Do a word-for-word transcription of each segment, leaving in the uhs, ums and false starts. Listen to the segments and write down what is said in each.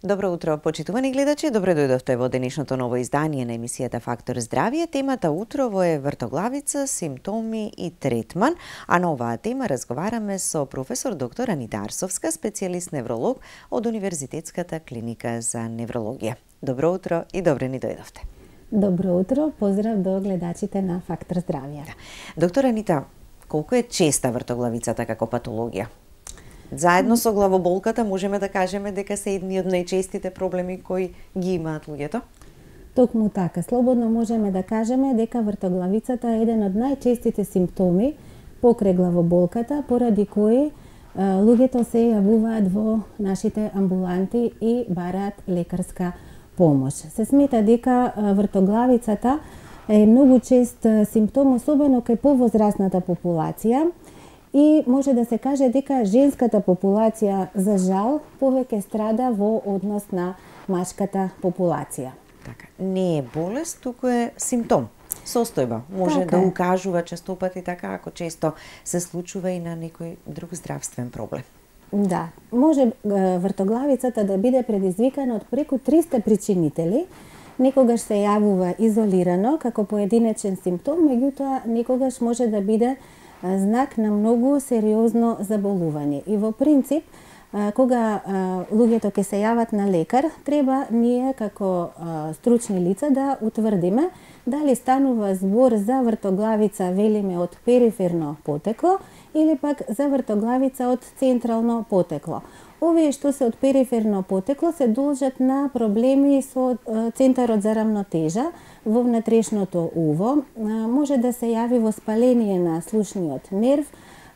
Добро утро, почитувани гледачи. Добро дојдовте во денешното ново издание на емисијата Фактор здравје. Темата утрово е вртоглавица, симптоми и третман, а на оваа тема разговараме со професор доктор Анита Арсовска, специјалист невролог од Универзитетската клиника за неврологија. Добро утро и добре ни дојдовте. Добро утро, поздрав до гледачите на Фактор здравје. Доктор Анита, колку е честа вртоглавицата како патологија? Заедно со главоболката можеме да кажеме дека се едни од најчестите проблеми кои ги имаат луѓето? Токму така, слободно можеме да кажеме дека вртоглавицата е еден од најчестите симптоми покрај главоболката, поради кои луѓето се јавуваат во нашите амбуланти и бараат лекарска помош. Се смета дека вртоглавицата е многу чест симптом, особено кај повозрасната популација, и може да се каже дека женската популација, за жал, повеќе страда во однос на машката популација. Така, не е болест, туку е симптом, состојба. Може така да е. укажува честопати така, ако често се случува и на некој друг здравствен проблем. Да, може вртоглавицата да биде предизвикана од преку триста причинители. Некогаш се јавува изолирано како поединечен симптом, меѓутоа некогаш може да биде знак на многу сериозно заболување. И во принцип, кога луѓето ќе се јават на лекар, треба ние како стручни лица да утврдиме дали станува збор за вртоглавица, велиме, од периферно потекло или пак за вртоглавица од централно потекло. Овие што се од периферно потекло се должат на проблеми со центарот за рамнотежа во внатрешното уво. Може да се јави воспаление на слушниот нерв,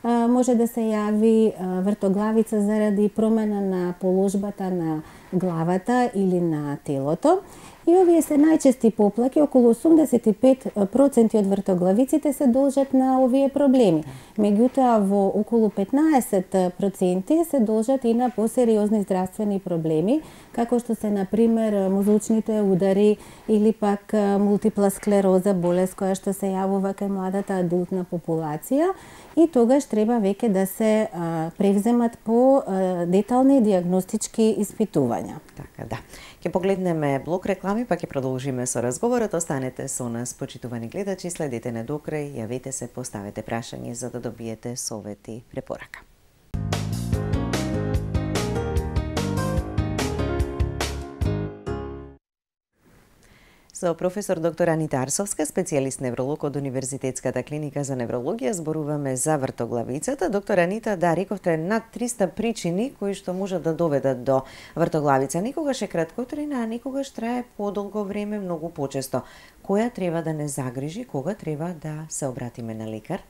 може да се јави вртоглавица заради промена на положбата на главата или на телото. И овие се најчести поплаки, околу осумдесет и пет проценти од вртоглавиците се должат на овие проблеми. Меѓутоа, во околу петнаесет проценти се должат и на посериозни здравствени проблеми, како што се, например, мозочните удари или пак мултипла склероза, болест која што се јавува кај младата адултна популација, и тогаш треба веќе да се а, превземат по а, детални диагностички испитувања. Така, да. Ќе погледнеме блок реклами, па ќе продолжиме со разговорот. Останете со нас, почитувани гледачи, следете не до крај, јавете се, поставете прашања за да добиете совети, препорака. Со професор доктор Анита Арсовска, специјалист невролог од Универзитетската клиника за неврологија, зборуваме за вртоглавицата. Доктор Анита, да, рековте над триста причини кои што можат да доведат до вртоглавица. Некогаш е краткотрајна, а некогаш трае подолго време, многу почесто. Која треба да не загрижи, кога треба да се обратиме на лекар?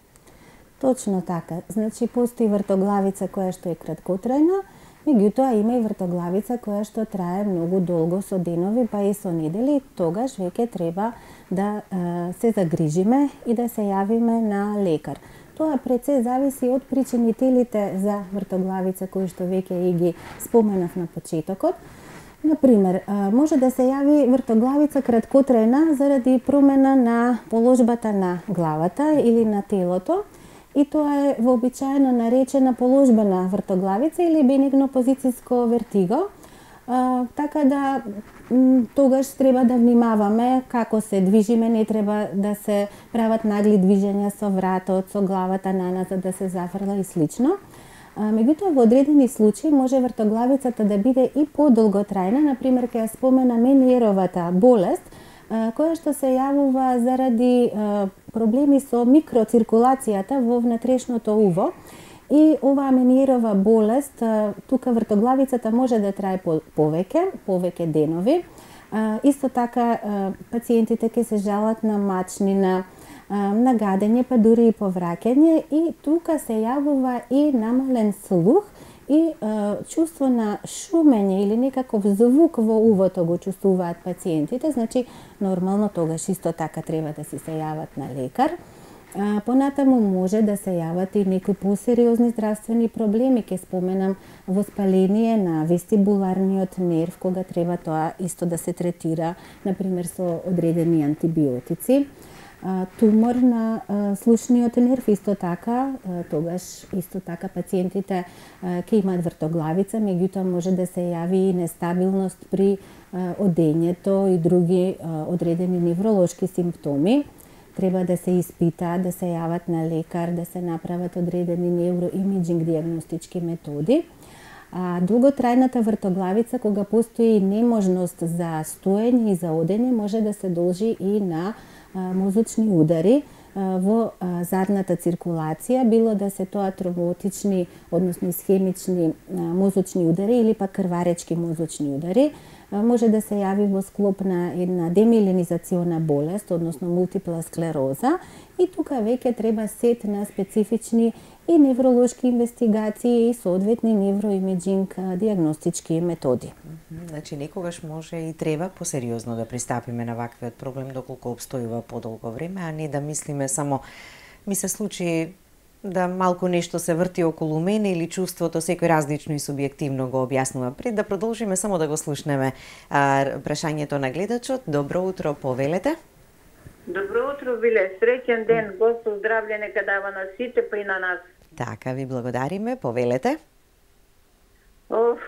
Точно така. Значи, постои вртоглавица која што е краткотрајна, меѓутоа има и вртоглавица која што трае многу долго, со денови, па и со недели. Тогаш веќе треба да е, се загрижиме и да се јавиме на лекар. Тоа пред се зависи од причинителите за вртоглавица кои што веќе и ги споменав на почетокот. Например, може да се јави вртоглавица краткотрајна заради промена на положбата на главата или на телото, и тоа е вообичаено наречена положбена вртоглавица или бенигно позицијско вертиго. А, така да тогаш треба да внимаваме како се движиме, не треба да се прават нагли движења со вратот, со главата наназад да се зафрла и слично. А, меѓутоа, во одредени случаи може вртоглавицата да биде и подолготрајна, например, ќе ја спомена Мениеровата болест, која што се јавува заради проблеми со микроциркулацијата во внатрешното уво. И оваа Мениерова болест, тука вртоглавицата може да трае повеќе, повеќе денови. Исто така, пациентите ќе се жалат на мачнина, на гадење, па дури и повраќање, и тука се јавува и намален слух и е, чувство на шумење или некаков звук во увото го чувствуваат пациентите. Значи, нормално тогаш исто така треба да си се јават на лекар. А, понатаму може да се јават и некои посериозни здравствени проблеми. Ке споменам воспаление на вестибуларниот нерв, кога треба тоа исто да се третира, например, со одредени антибиотици. тумор на слушниот нерв исто така, тогаш исто така пациентите ќе имаат вртоглавица, меѓутоа може да се јави и нестабилност при одењето и други одредени невролошки симптоми. Треба да се испитаат, да се јават на лекар, да се направат одредени невроимиджинг диагностички методи. А долготрајната вртоглавица, кога постои неможност за стоење и за одење, може да се должи и на мозочни удари во задната циркулација, било да се тоа тромботични, односно исхемични мозочни удари или пак крваречки мозочни удари. Може да се јави во склоп на една демиелинизациона болест, односно мултипла склероза, и тука веќе треба сет на специфични и невролошки инвестигации и соодветни невроимиджинг диагностички методи. Значи, некогаш може и треба посериозно да пристапиме на ваквиот проблем доколку обстојува подолго време, а не да мислиме само ми се случи да малку нешто се врти околу мене или чувството секој различно и субјективно го објаснува. Пред да продолжиме, само да го слушнеме а, прашањето на гледачот. Добро утро, повелете. Добро утро, Биле. Среќен ден, Господ здравје нека дава на сите, па и на нас. Така, ви благодариме, повелете. Оф,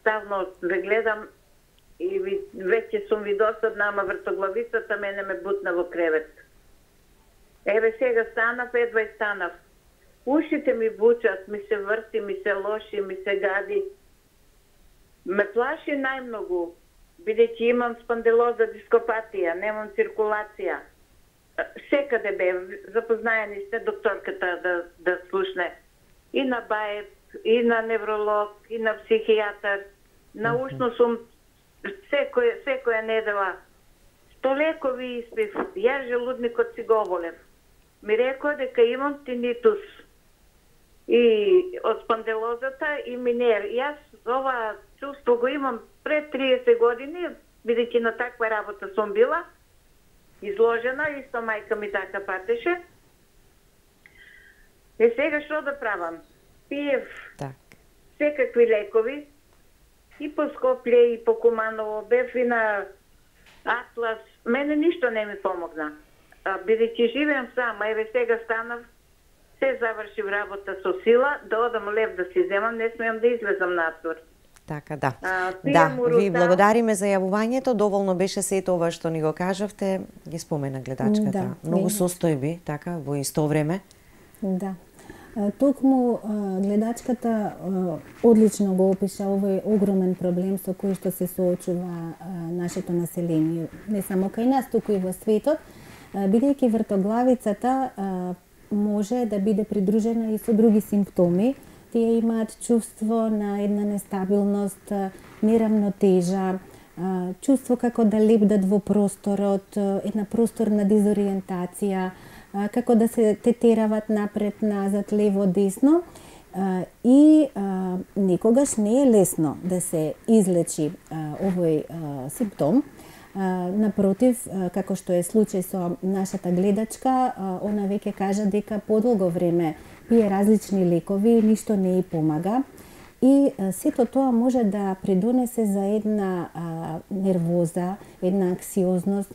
ставно ве гледам и ви, веќе сум ви досадна, ама вртоглавицата мене ме бутна во кревет. Еве сега станав, едва и станав. Ушите ми бучат, ми се врти, ми се лоши, ми се гади. Ме плаши најмногу, бидејќи имам спондилоза дископатија, немам циркулација. Секаде бе, запознаени сте докторката да, да слушне. И на баеп, и на невролог, и на психијатар. Научно сум секоја, секоја недела. Сто лекови испив, јас желудникот си го оболев. Ми рекоа дека имам тинитус и од спондилозата и минер. Јас ова чувство го имам пред триесет години, бидејќи на таква работа сум била изложена, исто мајка ми така патеше. Е сега што да правам? Пиев так. секакви лекови и по Скопје и по Куманово, бев и на Атлас. Мене ништо не ми помогна. Бидејќи живеам сама, еве сега станав, се завршив работа со сила, да одам лев да си земам, не смеам да излезам надвор. Така, да. А, да, урута... ви благодариме за јавувањето, доволно беше сето ова што ни го кажавте, ги спомена гледачката. Да, Многу не. состојби, така, во исто време. Да. Токму гледачката одлично го опиша овој огромен проблем со кој што се соочува нашето население, не само кај нас, туку и во светот, бидејќи вртоглавицата може да биде придружена и со други симптоми. Тие имаат чувство на една нестабилност, неравнотежа, чувство како да лепдат во просторот, една просторна дизориентација, како да се тетерават напред, назад, лево, десно. И никогаш не е лесно да се излечи овој симптом. Напротив, како што е случај со нашата гледачка, она веќе кажа дека подолго време пие различни лекови, ништо не ја помага. И сето тоа може да придонесе за една нервоза, една анксиозност,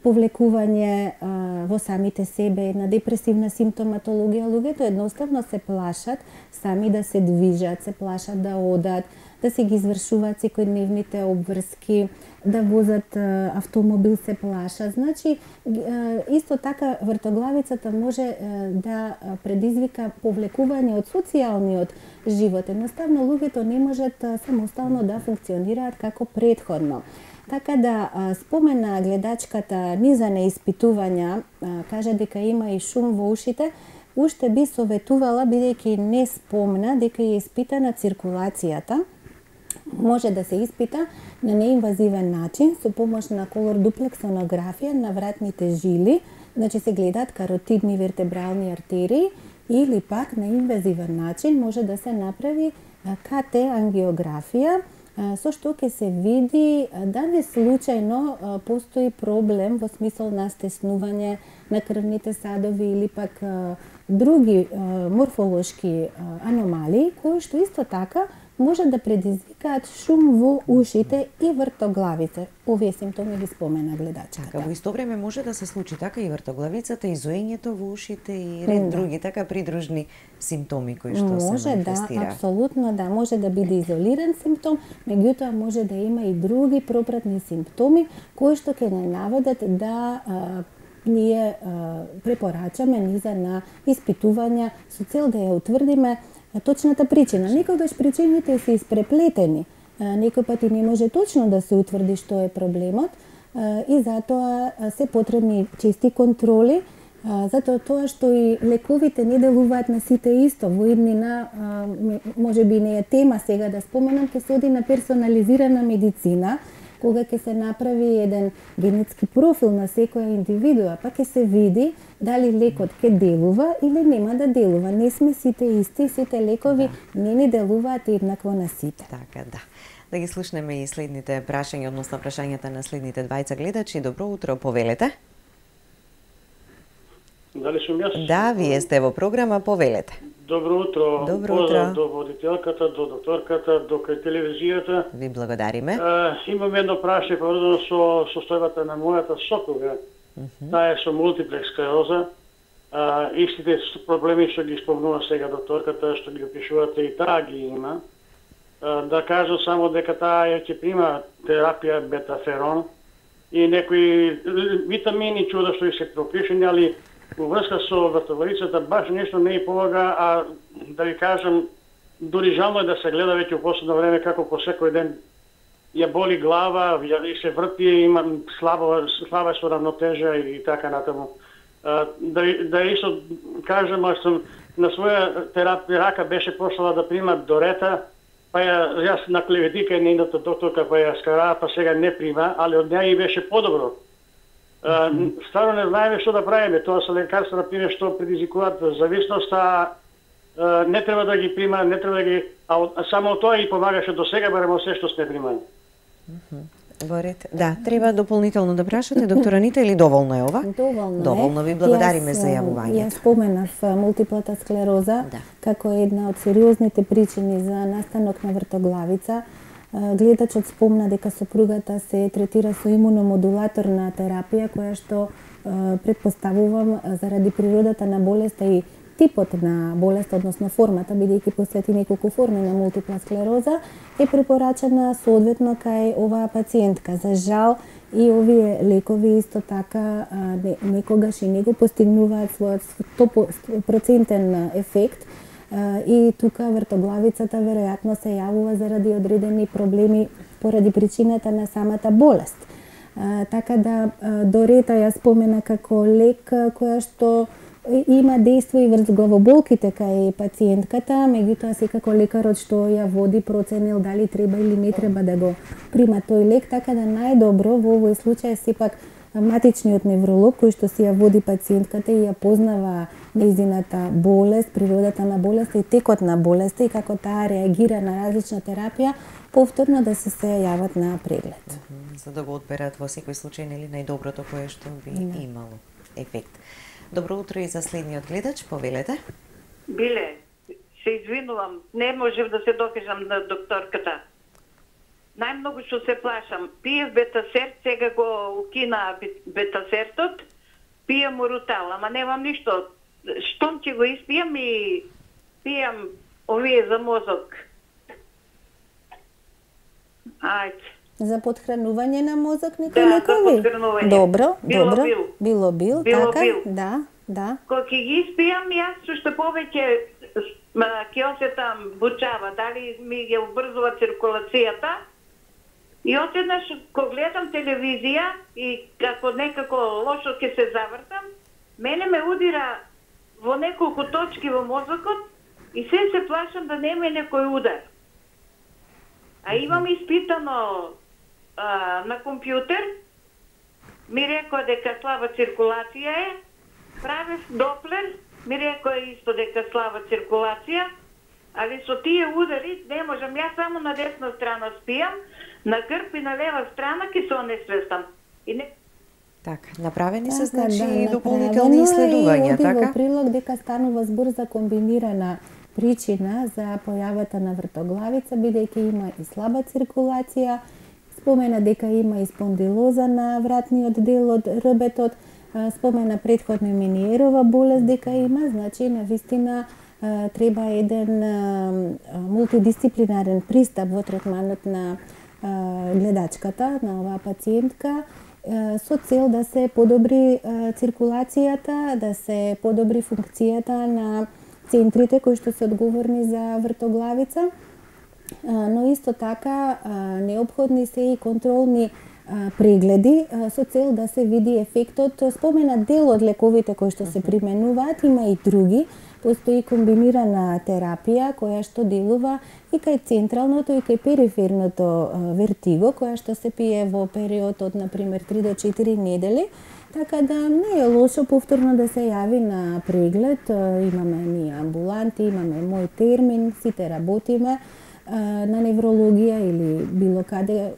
повлекување а, во самите себе, една депресивна симптоматологија. Луѓето едноставно се плашат сами да се движат, се плашат да одат, да се ги извршуваат секојдневните обврски, да возат а, автомобил, се плашат. Значи, а, исто така вртоглавицата може а, да предизвика повлекување од социјалниот живот. Едноставно луѓето не можат а, самостално да функционираат како предходно. Така да спомена гледачката низа неиспитувања, кажа дека има и шум во ушите, уште би советувала, бидејќи не спомна дека е испитана циркулацијата, може да се испита на неинвазивен начин со помош на колор дуплексонографија на вратните жили, значи се гледаат каротидни вертебрални артерии, или пак на инвазивен начин може да се направи ка те ангиографија, со што ќе се види дали случајно постои проблем во смисол на стеснување на крвните садови или пак други морфолошки аномалии, кои што исто така може да предизвикаат шум во ушите и вртоглавица. Овие симптоми ги спомена гледачката. Така, во исто време може да се случи така и вртоглавицата, и зоењето во ушите и ред Да. други така придружни симптоми кои што се Може да, манифестираат. апсолутно да, може да биде изолиран симптом, меѓутоа може да има и други пропратни симптоми кои што ќе не наведат да а, ние а, препорачаме низа на испитувања со цел да ја утврдиме а, точната причина. Некогаш причините се испреплетени. А, некој пати не може точно да се утврди што е проблемот а, и затоа а, се потребни чести контроли, а, затоа тоа што и лековите не делуваат на сите исто. Во иднина, а, може би не е тема сега да споменам, ќе се оди на персонализирана медицина, кога ќе се направи еден генетски профил на секоја индивидуа, па ќе се види дали лекот ќе делува или нема да делува. Не сме сите исти, сите лекови да. не ни делуваат еднакво на сите. Така, да. Да ги слушнеме и следните прашања, односно прашањата на следните двајца гледачи. Добро утро, повелете. Дали сум јас? Да, вие сте во програма, повелете. Добро утро. Добро Поздрав утро. до водителката, до докторката, до кај телевизијата. Ви благодариме. Е, имам едно прашање поврзано со состојбата на мојата сопруга. Uh -huh. Таа е со мултиплекс склероза. А, истите проблеми што ги спомнува сега докторката, што ги опишувате, и таа ги има. А, да кажам само дека таа ќе прима терапија бетаферон и некои витамини чуда што и се пропишени, али во врска со вртоглавицата баш нешто не ја помага, а да ви кажам, дури жално е да се гледа веќе во последно време како по секој ден ја боли глава, ја се врти, има слабо, слаба со равнотежа и така натаму. Да, да исто кажам, аз сум на своја терапија рака беше пошлала да прима Дорета, па ја, јас на клеветика и нейната докторка па ја скара, па сега не прима, али од неја и беше подобро. Uh, стварно не знаеме што да правиме. Тоа се лекарства, например, што предизвикуваат зависност, а uh, не треба да ги прима, не треба да ги... А, а само тоа и помагаше до сега, барем се што сме примали. Во ред. Да, треба дополнително да прашате, доктора Анита, или доволно е ова? Доволно, Доволно е. ви благодариме Јас, за јавувањето. Јас споменав мултиплата склероза Да. како една од сериозните причини за настанок на вртоглавица. Гледачот спомна дека сопругата се третира со имуномодулаторна терапија, која што предпоставувам заради природата на болеста и типот на болест, односно формата, бидејќи посети неколку форми на мултипла склероза, е препорачана соодветно кај оваа пациентка. За жал, и овие лекови исто така некогаш и не го постигнуваат својот сто процентен ефект, и тука вртоглавицата веројатно се јавува заради одредени проблеми поради причината на самата болест. А, така да Дорета ја спомена како лек која што има дејство и врз главоболките кај пациентката, меѓутоа секако лекарот што ја води проценил дали треба или не треба да го прима тој лек, така да најдобро во овој случај сепак матичниот невролог кој што си ја води пациентката и ја познава нејзината болест, природата на болеста и текот на болеста и како таа реагира на различна терапија, повторно да се се јават на преглед. Uh -huh. За да го одберат во секој случај нели најдоброто кое што би Да. имало ефект. Добро утро и за следниот гледач, повелете. Биле, се извинувам, не можев да се докажам на докторката. Најмногу што се плашам, пиев бетасерт, сега го укина бетасертот, пием урутал, ама немам ништо. Штом ќе го испијам и пијам овие за мозок. Ајде. За подхранување на мозок некои Да, за лекови? подхранување. Добро, Било добро. бил. Било бил, Било така? бил. Да, да. Кога ќе ги испијам, јас што повеќе ќе осетам бучава, дали ми ја убрзува циркулацијата. И одеднаш, кога гледам телевизија и како некако лошо ќе се завртам, мене ме удира во неколку точки во мозокот и се се плашам да нема некој удар. А имам испитано а, на компјутер, ми рекоа дека слаба циркулација е, правев доплер, ми рекоа исто дека слаба циркулација, али со тие удари не можам, јас само на десна страна спијам, на грб и на лева страна ќе се онесвестам. И не... Така, направени се Така, значи да, дополнителни направено е исследувања, и оди така? во прилог дека станува збор за комбинирана причина за појавата на вртоглавица, бидејќи има и слаба циркулација. Спомена дека има и спондилоза на вратниот дел од рбетот, спомена претходно и Мениерова болест дека има, значи навистина треба еден мултидисциплинарен пристап во третманот на гледачката, на оваа пациентка, со цел да се подобри циркулацијата, да се подобри функцијата на центрите кои што се одговорни за вртоглавица, но исто така неопходни се и контролни прегледи со цел да се види ефектот. Спомена дел од лековите кои што се применуваат, има и други. Постои комбинирана терапија која што делува и кај централното и кај периферното вертиго, која што се пие во период од, например, три до четири недели. Така да не е лошо повторно да се јави на преглед. Имаме ние амбуланти, имаме мој термин, сите работиме на неврологија или било каде,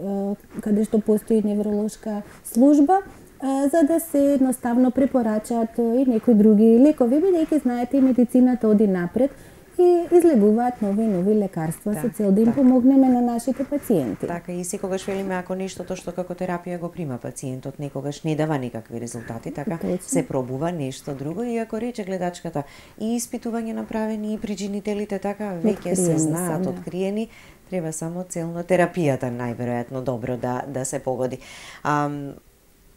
каде што постои невролошка служба, за да се едноставно препорачаат и некои други лекови, бидејќи знаете и медицината оди напред и излегуваат нови и нови лекарства да, со цел да им така помогнеме на нашите пациенти. Така и секогаш велиме ако нештото што како терапија го прима пациентот некогаш не дава никакви резултати, така точно се пробува нешто друго и ако рече гледачката и испитување направени и причинителите така веќе се знаат, да, откриени, треба само целно терапијата најверојатно добро да да се погоди. А,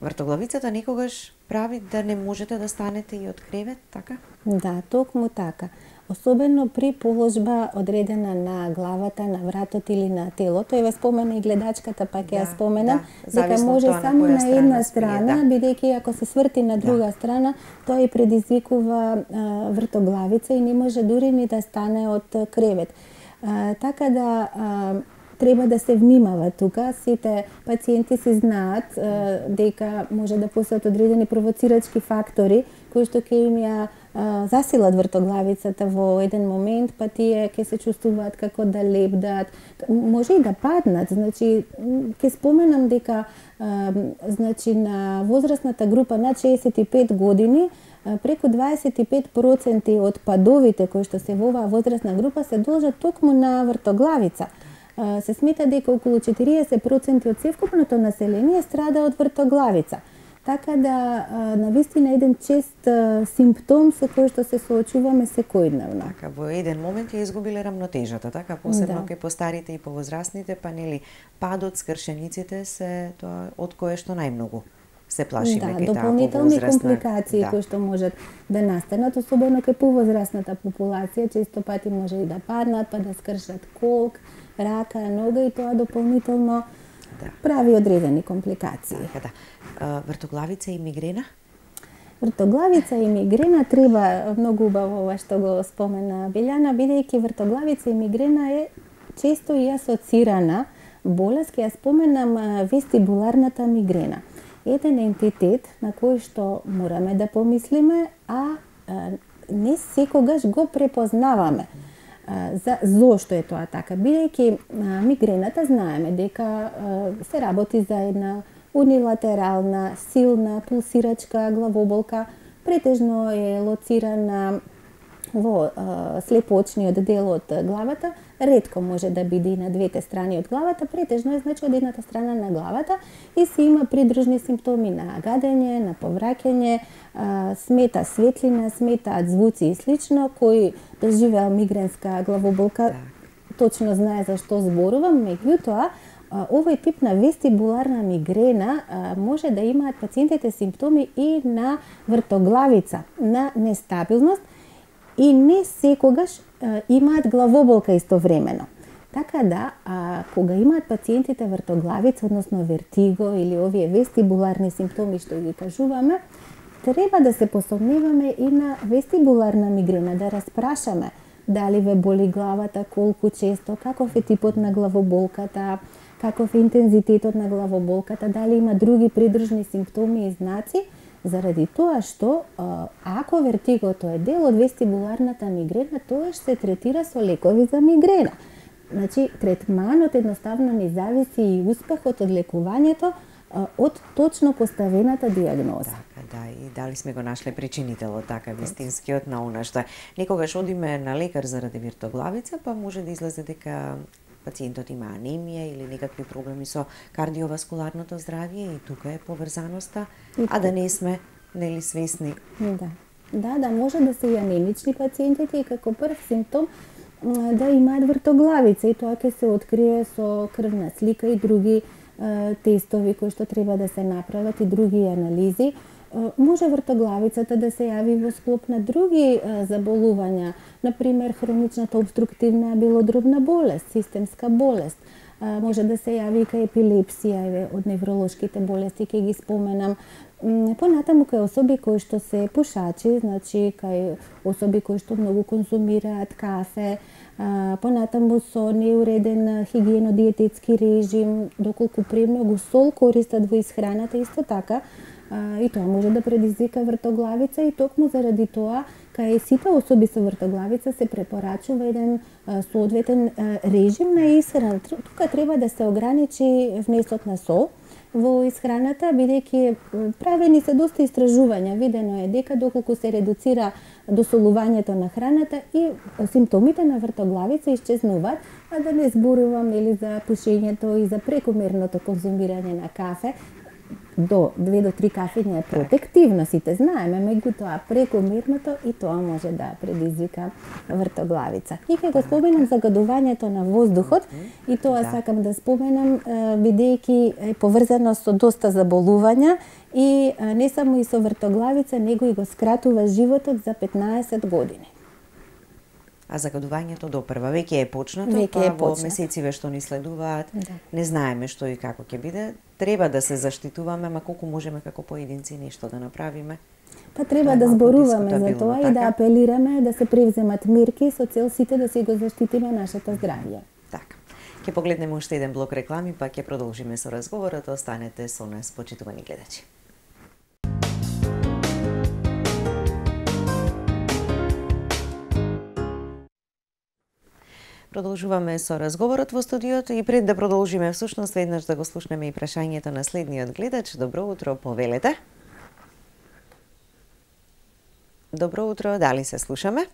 вртоглавицата некогаш прави да не можете да станете и од кревет, така? Да, токму така. Особено при положба одредена на главата, на вратот или на телото. Еве спомена и гледачката, па ќе ја да, спомена, да, дека може само на, на една страна, да, бидејќи ако се сврти на друга да страна, тоа и предизвикува а, вртоглавица и не може дури ни да стане од кревет. А, така да а, треба да се внимава тука. Сите пациенти се знаат а, дека може да постојат одредени провоцирачки фактори кои што ќе им ја засилат вртоглавицата во еден момент, па тие ќе се чувствуваат како да лепдат, може и да паднат. Значи, ќе споменам дека а, значи, на возрастната група над шеесет и пет години, а, преку дваесет и пет проценти од падовите кои што се во оваа возрастна група се должат токму на вртоглавица. А, се смета дека околу четириесет проценти од севкупното население страда од вртоглавица. Така да, навистина еден чест симптом со кој што се соочуваме секојдневно. Така, во еден момент ја изгубиле рамнотежата, така, посебно да кај постарите и повозрастните, па нели падот, скршениците се тоа од кое што најмногу се плашиме кај таа повозрастна. Да, дополнителни компликации да кои што можат да настанат, особено кај повозрастната популација, често пати може и да паднат, па да скршат колк, рака, нога и тоа дополнително да прави одредени компликации. Така, да. Вртоглавица и мигрена? Вртоглавица и мигрена треба многу убаво ова што го спомена Билјана, бидејќи вртоглавица и мигрена е често и асоцирана болест. Ќе ја споменам вестибуларната мигрена. Еден ентитет на кој што мораме да помислиме, а не секогаш го препознаваме. За зошто е тоа така? Бидејќи мигрената знаеме дека се работи за една унилатерална, силна, пулсирачка главоболка, претежно е лоцирана во а, слепоочниот дел од главата, ретко може да биде и на двете страни од главата, претежно е значи од едната страна на главата и се има придружни симптоми на гадење, на повраќање, а, смета светлина, сметаат звуци и слично. Кој доживеал мигренска главоболка точно знае за што зборувам, меѓутоа овој тип на вестибуларна мигрена а, може да имаат пациентите симптоми и на вртоглавица, на нестабилност и не секогаш а, имаат главоболка истовремено. Така да, а, кога имаат пациентите вртоглавица, односно вертиго или овие вестибуларни симптоми што ги кажуваме, треба да се посомневаме и на вестибуларна мигрена, да распрашаме дали ве боли главата, колку често, каков е типот на главоболката, каков е интензитетот на главоболката, дали има други придружни симптоми и знаци, заради тоа што ако вертигото е дел од вестибуларната мигрена, тоа се третира со лекови за мигрена. Значи, третманот едноставно не зависи и успехот од лекувањето од точно поставената диагноза. Така, да, и дали сме го нашле причинителот, така, вистинскиот на она што некогаш одиме на лекар заради виртоглавица, па може да излезе дека пациентот има анемија или некакви проблеми со кардиоваскуларното здравје и тука е поврзаноста, а да не сме нели свесни. Да. Да, да, може да се и анемични пациентите и како прв симптом да имаат вртоглавица и тоа ќе се открие со крвна слика и други е, тестови кои што треба да се направат и други анализи. Е, може вртоглавицата да се јави во склоп на други е, заболувања, например хроничната обструктивна белодробна болест, системска болест. Е, може да се јави кај епилепсија, од невролошките болести ќе ги споменам. Понатаму кај особи кои што се пушачи, значи кај особи кои што многу конзумираат кафе, понатаму со неуреден хигиено-диететски режим, доколку премногу сол користат во исхраната, исто така, и тоа може да предизвика вртоглавица и токму заради тоа кај сите особи со вртоглавица се препорачува еден соодветен режим на исхрана. Тука треба да се ограничи внесот на сол во исхраната, бидејќи правени се доста истражувања, видено е дека доколку се редуцира досолувањето на храната и симптомите на вртоглавица исчезнуваат, а да не зборувам нели за пушењето и за прекомерното конзумирање на кафе. До две до три кафења е протективно, сите знаеме, меѓутоа прекомерното и тоа може да предизвика вртоглавица. И ќе го споменам загадувањето на воздухот и тоа да. Сакам да споменам бидејќи е поврзано со доста заболувања и не само и со вртоглавица, него и го скратува животот за петнаесет години. А загадувањето допрва веќе е почнато, веќе па е во почнато. месециве што ни следуваат, Да. не знаеме што и како ќе биде. Треба да се заштитуваме, ма колку можеме како поединци нешто да направиме. Па треба да малку зборуваме за дискутабилно, тоа и така? да апелираме да се превземат мерки со цел сите да си го заштитиме нашето здравје. Така. Ќе погледнеме уште еден блок реклами, па ќе продолжиме со разговорот. Останете со нас, почитувани гледачи. Продолжуваме со разговорот во студиото и пред да продолжиме всушност веднаш да го слушнеме и прашањето на следниот гледач. Добро утро, повелете. Добро утро, дали се слушаме?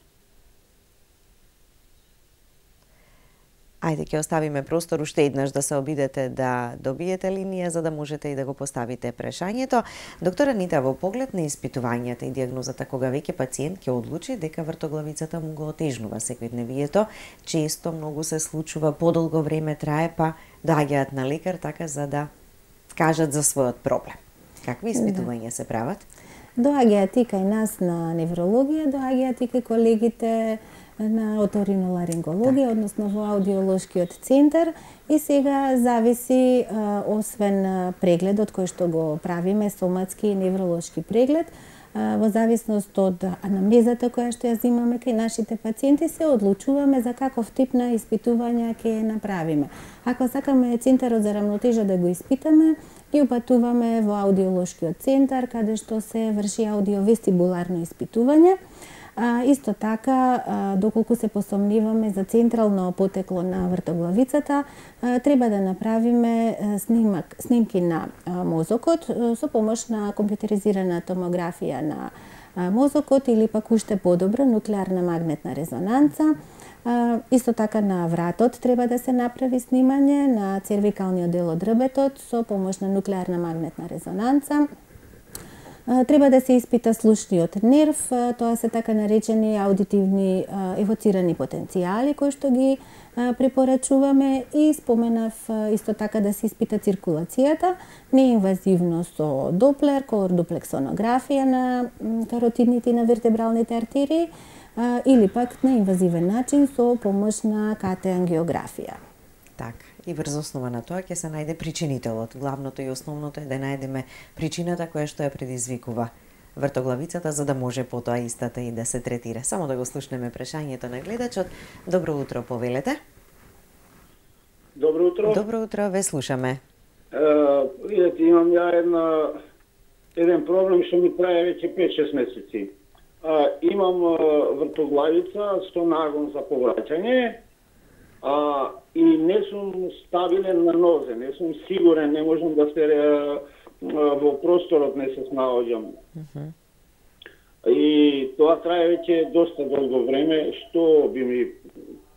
Ајде, ќе оставиме простор уште еднаш да се обидете да добиете линија за да можете и да го поставите прашањето. Доктор Анита, во поглед на испитувањата и диагнозата кога веќе пациент ќе одлучи дека вртоглавицата му го отежнува секојдневието, често многу се случува, подолго време трае, па доаѓаат на лекар така за да кажат за својот проблем. Какви испитувања се прават? Доаѓаат и кај нас на неврологија, доаѓаат и кај колегите на оториноларингологија, односно во аудиолошкиот центар, и сега зависи, освен прегледот кој што го правиме, соматски и невролошки преглед, во зависност од анамнезата која што ја земаме кај нашите пациенти, се одлучуваме за каков тип на испитувања ќе направиме. Ако сакаме центарот за рамнотежа да го испитаме, ги упатуваме во аудиолошкиот центар, каде што се врши аудиовестибуларно испитување. А, исто така, а, доколку се посомниваме за централно потекло на вртоглавицата, а, треба да направиме а, снимак, снимки на а, мозокот а, со помош на компјутеризирана томографија на а, мозокот или пак уште подобро нуклеарна магнетна резонанца. А, исто така на вратот треба да се направи снимање на цервикалниот дел од рбетот со помош на нуклеарна магнетна резонанца. Треба да се испита слушниот нерв, тоа се така наречени аудитивни евоцирани потенцијали кои што ги препорачуваме, и споменав исто така да се испита циркулацијата, неинвазивно со доплер, колордуплексонографија на каротидните и на вертебралните артерии, или пак на инвазивен начин со помош на ка те ангиографија. Така. И врз основа на тоа ќе се најде причинителот. Главното и основното е да најдеме причината која што ја предизвикува вртоглавицата, за да може потоа истата и да се третира. Само да го слушнеме прашањето на гледачот. Добро утро, повелете. Добро утро. Добро утро, ве слушаме. Е, видете, имам ја една еден проблем што ми трае веќе пет-шест месеци. А, имам вртоглавица со нагон за повраќање. а, и не сум стабилен на нозе, не сум сигурен, не можам да се а, во просторот не се снаоѓам. Uh-huh. И тоа трае веќе доста долго време, што би ми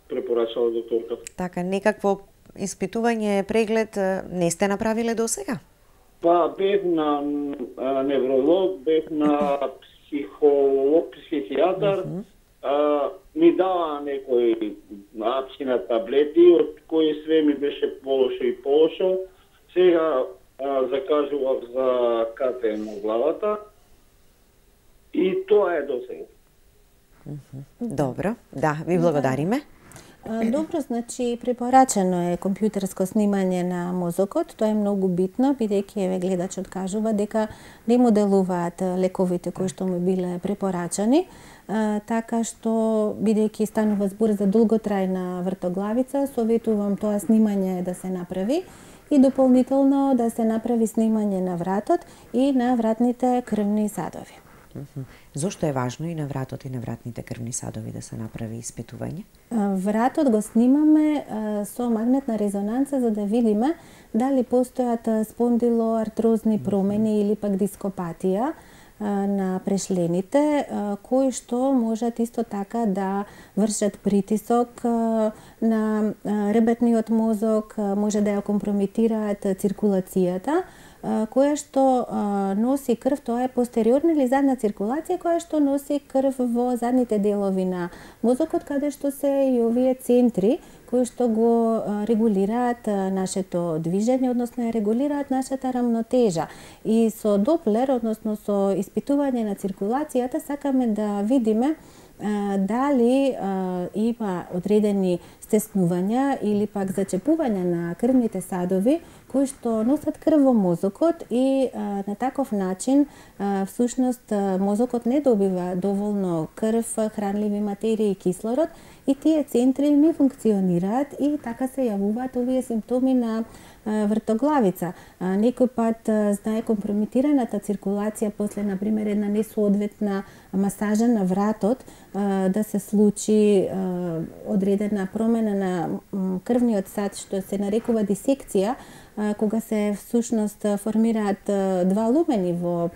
препорачала докторка? Така, некакво испитување, преглед не сте направиле до сега? Па бев на а, невролог, бев на психолог, психијатар, uh-huh. а, ми дава некои апсина таблети, од кои све ми беше полошо и полошо. Сега а, закажував за КТМ во главата и тоа е до сега. Uh-huh. Добро, да, ви благодариме. Добро, значи препорачено е компјутерско снимање на мозокот. Тоа е многу битно, бидејќи еве гледачот кажува дека не му делуваат лековите кои што му биле препорачани, така што бидејќи станува збор за долготрајна вртоглавица, советувам тоа снимање да се направи и дополнително да се направи снимање на вратот и на вратните крвни садови. Uh-huh. Зошто е важно и на вратот и на вратните крвни садови да се направи испитување? Вратот го снимаме а, со магнетна резонанца за да видиме дали постојат спондилоартрозни промени или пак дископатија а, на прешлените, а, кои што можат исто така да вршат притисок а, на а, ребетниот мозок, а, може да ја компрометираат циркулацијата, која што а, носи крв, тоа е постериорна или задна циркулација, која што носи крв во задните делови на мозокот, каде што се и овие центри кои што го а, регулираат а, нашето движење, односно ја регулираат нашата рамнотежа. И со Доплер, односно со испитување на циркулацијата, сакаме да видиме а, дали а, има одредени стеснувања или пак зачепувања на крвните садови кои што носат крв во мозокот и а, на таков начин а, всушност а, мозокот не добива доволно крв, хранливи материи и кислород и тие центри не функционираат и така се јавуваат овие симптоми на а, вртоглавица. А, некој пат а, знае компрометираната циркулација после, например, една несоодветна масажа на вратот а, да се случи а, одредена промена на м, крвниот сад што се нарекува дисекција, кога се всушност формираат два лумени во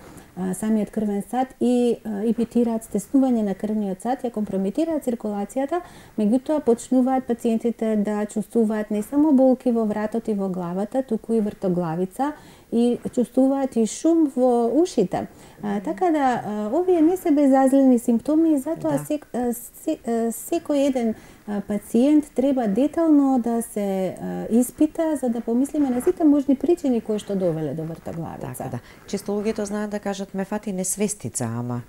самиот крвен сад и имитираат стеснување на крвниот сад, ја компрометираат циркулацијата, меѓутоа почнуваат пациентите да чувствуваат не само болки во вратот и во главата, туку и вртоглавица и чувствуваат и шум во ушите. А, така да, а, овие не се безазлени симптоми и затоа да. сек, а, се, а, секој еден а, пациент треба детално да се а, испита за да помислиме на сите можни причини кои што довеле до вртоглавица. Така да. Често луѓето знаат да кажат ме фати несвестица, ама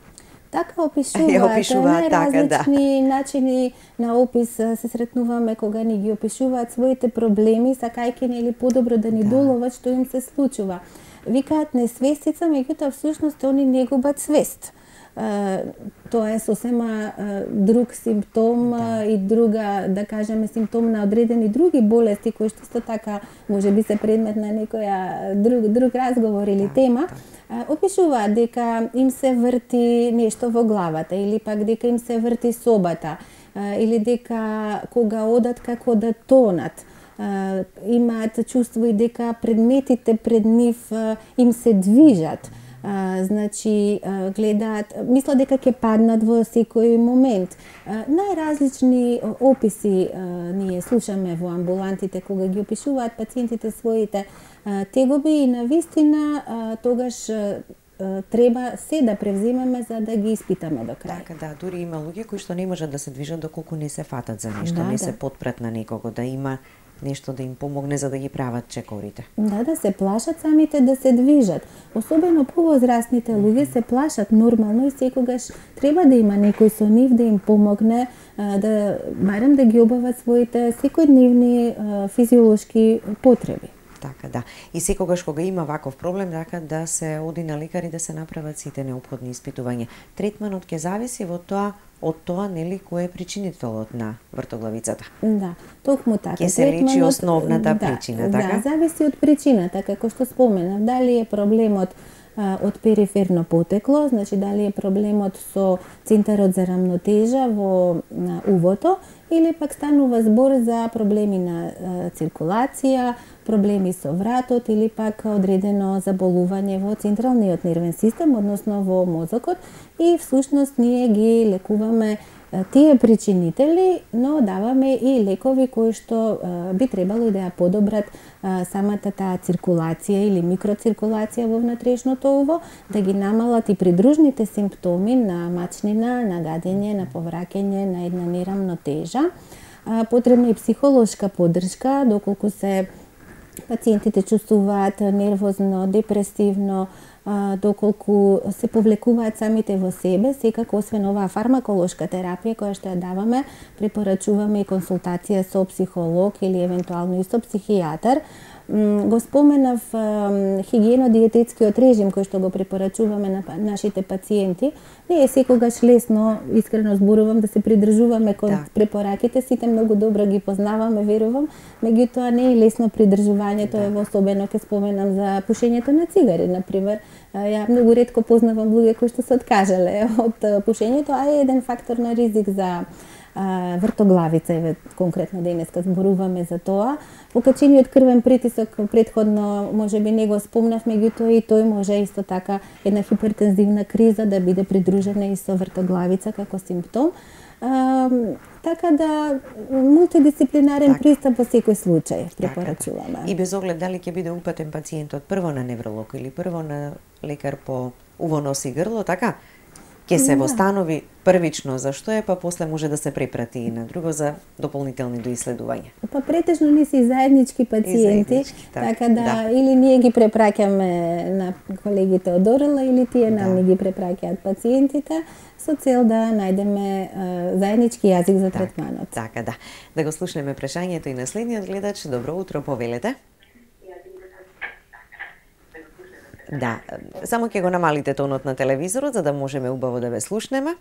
така опишуваат, опишуваат најразлични да. начини на опис се сретнуваме кога ни ги опишуваат своите проблеми, сакајќи нели подобро да ни да. доловат што им се случува. Викаат несвестица, меѓутоа всушност они не губат свест. Uh, тоа е сосема uh, друг симптом да. uh, и друга, да кажеме, симптом на одредени други болести кои што исто така може би се предмет на некоја друг, друг разговор или да, тема. Да. Uh, опишуваат дека им се врти нешто во главата или пак дека им се врти собата uh, или дека кога одат како да тонат. Uh, имаат чувство и дека предметите пред нив uh, им се движат. Uh, значи, uh, гледаат, мислат дека ќе паднат во секој момент. Uh, најразлични описи uh, ние слушаме во амбулантите кога ги опишуваат пациентите своите uh, тегоби и навистина uh, тогаш uh, треба се да превземеме за да ги испитаме до крај. Така да, дури има луѓе кои што не можат да се движат доколку не се фатат за нешто, да, не да. се потпрат на некого, да има нешто да им помогне за да ги прават чекорите. Да, да се плашат самите да се движат. Особено повозрастните луѓе се плашат нормално и секогаш треба да има некој со нив да им помогне, да барем да ги обават своите секојдневни физиолошки потреби. Така да. И секогаш кога има ваков проблем, така да се оди на лекар и да се направат сите неопходни испитувања. Третманот ќе зависи во тоа од тоа нели кој е причинителот на вртоглавицата. Да, токму така. Ќе се лечи основната да, причина, да, така? Да, зависи од причината, како што споменав, дали е проблемот а, од периферно потекло, значи дали е проблемот со центарот за рамнотежа во а, увото или пак станува збор за проблеми на циркулација, проблеми со вратот или пак одредено заболување во централниот нервен систем, односно во мозокот, и всушност ние ги лекуваме тие причинители, но даваме и лекови кои што би требало да ја подобрат самата таа циркулација или микроциркулација во внатрешното уво, да ги намалат и придружните симптоми на мачнина, на гадење, на повраќање, на една нерамнотежа. Потребна и психолошка поддршка, доколку се пациентите чувствуваат нервозно, депресивно, доколку се повлекуваат самите во себе, секако освен оваа фармаколошка терапија која што ја даваме, препорачуваме и консултација со психолог или евентуално и со психијатар. Го споменав хигиено-диететскиот режим кој што го препорачуваме на нашите пациенти. Не е секогаш лесно, искрено зборувам, да се придржуваме кон да. препораките, сите многу добро ги познаваме, верувам, меѓутоа не е лесно придржувањето, да. Ево особено ќе споменам за пушењето на цигари, например. Ја многу ретко познавам луѓе кои што се откажале од пушењето, а е еден фактор на ризик за вртоглавица, еве конкретно денеска зборуваме за тоа. Покачениот крвен притисок претходно можеби не го спомнав, меѓутоа и тој може исто така една хипертензивна криза да биде придружена и со вртоглавица како симптом. А, така да мултидисциплинарен так. пристап во секој случај препорачуваме. И без оглед дали ќе биде упатен пациентот прво на невролог или прво на лекар по уво, нос и грло, така? Ке се востанови првично зашто е, па после може да се препрати и на друго за дополнителни доиследувања. Па претежно ни се и заеднички пациенти, и заеднички, так, така да, да или ние ги препраќаме на колегите од Орела или тие нам да. ни ги препраќаат пациентите со цел да најдеме а, заеднички јазик за так, третманот. Така да. Да го слушнеме прашањето и на следниот гледач. Добро утро, повелете. Да, само ќе го намалите тонот на телевизорот за да можеме убаво да ве слушнеме.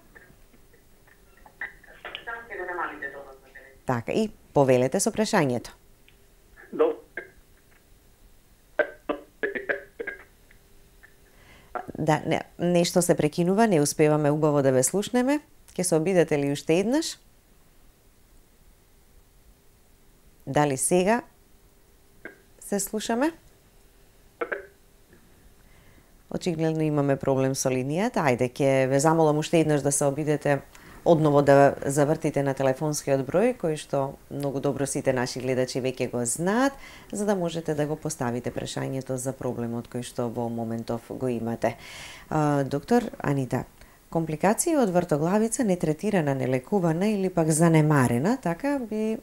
Само ќе го намалите тонот на телевизорот. Така, и повелете со прашањето. Да, не, нешто се прекинува, не успеваме убаво да ве слушнеме. Ќе се обидете ли уште еднаш? Дали сега се слушаме? Очигледно имаме проблем со линијата. Ајде, ќе ве замолам уште еднаш да се обидете одново да завртите на телефонскиот број, кој што многу добро сите наши гледачи веќе го знаат, за да можете да го поставите прашањето за проблемот кој што во моментов го имате. А, доктор Анита, компликации од вртоглавица нетретирана, нелекувана или пак занемарена, така би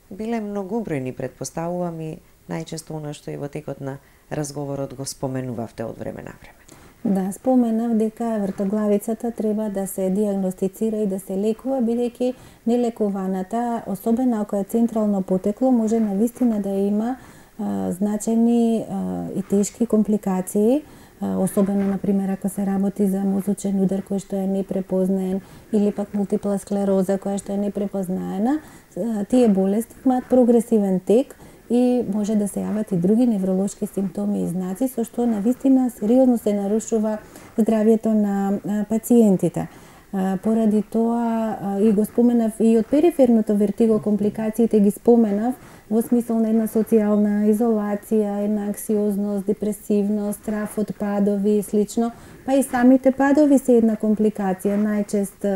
биле многубројни, претпоставувам, и најчесто она што и во текот на разговорот го споменувавте од време на време. Да, споменав дека вртоглавицата треба да се диагностицира и да се лекува, бидејќи нелекуваната, особено ако е централно потекло, може навистина да има а, значајни а, и тешки компликации, а, особено, например, ако се работи за мозочен удар кој што е непрепознаен или пак мултипла склероза која што е непрепознаена. А, тие болести имаат прогресивен тек и може да се јават и други невролошки симптоми и знаци, со што навистина сериозно се нарушува здравјето на пациентите. Поради тоа, и го споменав и од периферното вертиго, компликациите ги споменав во смисол на една социјална изолација, една анксиозност, депресивност, страф од падови и слично, па и самите падови се една компликација, најчест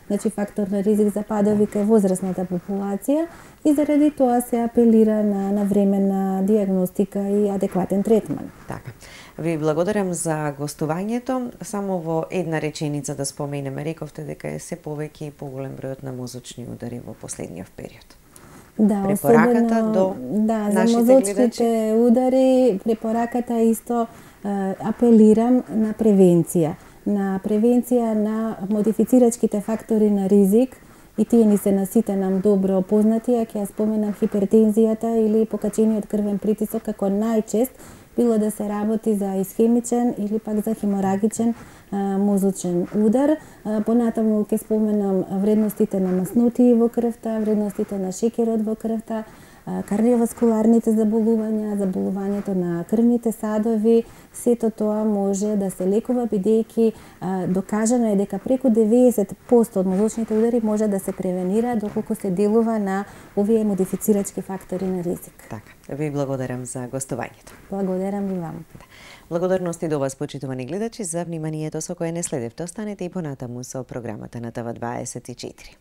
значи фактор на ризик за падови кај возрастната популација, и заради тоа се апелира на навременна диагностика и адекватен третман. Така. Ви благодарам за гостувањето. Само во една реченица да споменеме, рековте дека е се повеќе и поголем бројот на мозочни удари во последниот период. Да, препораката особено, до да, за мозочните гледачи. Удари, препораката исто е, апелирам на превенција. На превенција на модифицирачките фактори на ризик, и тие ни се на сите нам добро познати, а ќе ја споменам хипертензијата или покачениот крвен притисок како најчест, било да се работи за исхемичен или пак за хеморагичен а, мозочен удар. А, понатаму ќе споменам вредностите на маснотии во крвта, вредностите на шекерот во крвта, кардиоваскуларните заболувања, заболувањето на крвните садови, сето тоа може да се лекува бидејќи докажано е дека преку деветдесет проценти од мозочните удари може да се превенира доколку се делува на овие модифицирачки фактори на ризик. Така, ви благодарам за гостувањето. Благодарам ви вам. Благодарности до вас, почитувани гледачи, за вниманието со кое не следевте. Останете и понатаму со програмата на Т В дваесет и четири.